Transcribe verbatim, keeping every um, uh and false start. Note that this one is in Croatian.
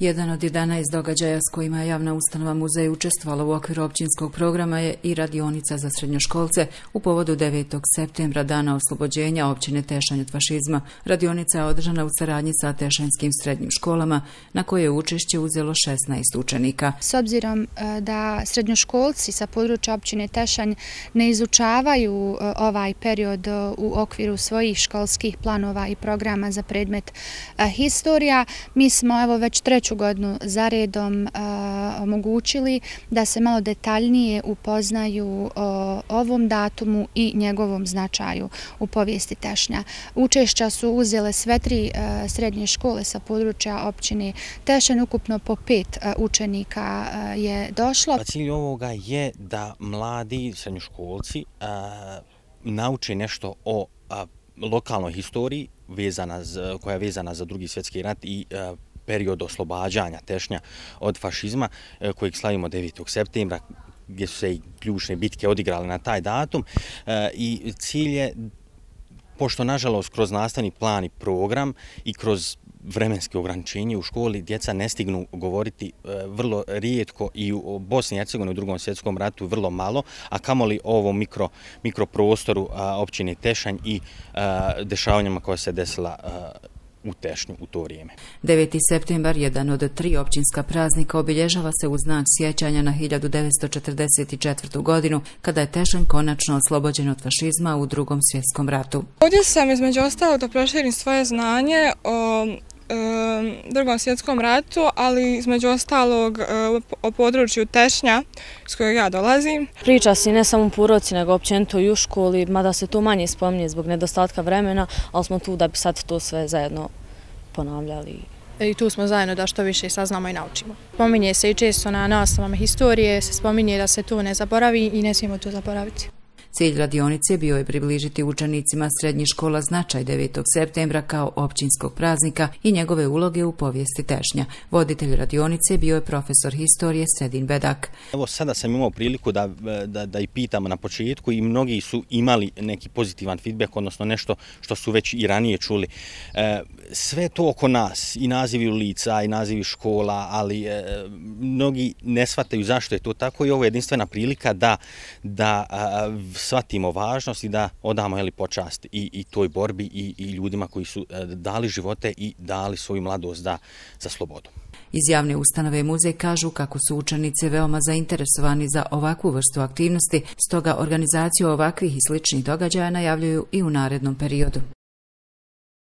Jedan od jedanaest događaja s kojima je javna ustanova muzej učestvovala u okviru općinskog programa je i radionica za srednjoškolce u povodu devetog septembra, dana oslobođenja općine Tešanj od fašizma. Radionica je održana u saradnji sa tešanjskim srednjim školama, na koje je učešće uzelo šesnaest učenika. S obzirom da srednjoškolci sa područja općine Tešanj ne izučavaju ovaj period u okviru svojih školskih planova i programa za predmet historija, mi smo evo već treću godinu za redom omogućili da se malo detaljnije upoznaju o ovom datumu i njegovom značaju u povijesti Tešnja. Učešća su uzele sve tri srednje škole sa područja općine Tešanj, ukupno po pet učenika je došlo. Cilj ovoga je da mladi srednjoškolci nauče nešto o lokalnoj historiji koja je vezana za Drugi svjetski rat i period oslobađanja Tešnja od fašizma kojeg slavimo devetog septembra, gdje su se i ključne bitke odigrale na taj datum. I cilj je, pošto nažalost kroz nastavni plan i program i kroz vremenske ograničenje u školi djeca ne stignu govoriti vrlo rijetko i u Bosni i Hercegovini u Drugom svjetskom ratu vrlo malo, a kamoli o ovom mikro, mikroprostoru općine Tešanj i dešavanjima koja se desila u Tešnju u to vrijeme. deveti septembar, jedan od tri općinska praznika, obilježava se u znak sjećanja na hiljadu devetsto četrdeset četvrtu. godinu, kada je Tešanj konačno oslobođen od fašizma u Drugom svjetskom ratu. Ovdje sam između ostalog da proširim svoje znanje o Drugom svjetskom ratu, ali između ostalog o području Tešnja s kojeg ja dolazim. Priča se ne samo u Puroci, nego općenito i u školi, mada se to manje spominje zbog nedostatka vremena, ali smo tu da bi sad to sve zajedno ponavljali. I tu smo zajedno da što više saznamo i naučimo. Spominje se i često na nastavama historije, se spominje da se to ne zaboravi i ne smijemo to zaboraviti. Cilj radionice bio je približiti učenicima srednjih škola značaj devetog septembra kao općinskog praznika i njegove uloge u povijesti Tešnja. Voditelj radionice bio je profesor historije Sedin Bedak. Evo sada sam imao priliku da, da, da i pitamo na početku i mnogi su imali neki pozitivan feedback, odnosno nešto što su već i ranije čuli. E, sve to oko nas, i nazivi ulica, i nazivi škola, ali e, mnogi ne shvataju zašto je to tako i ovo je jedinstvena prilika da, da a, shvatimo važnost i da odamo jeli, počast i, i toj borbi i, i ljudima koji su dali živote i dali svoju mladost da, za slobodu. Iz javne ustanove muzej kažu kako su učenici veoma zainteresovani za ovakvu vrstu aktivnosti, stoga organizaciju ovakvih i sličnih događaja najavljuju i u narednom periodu.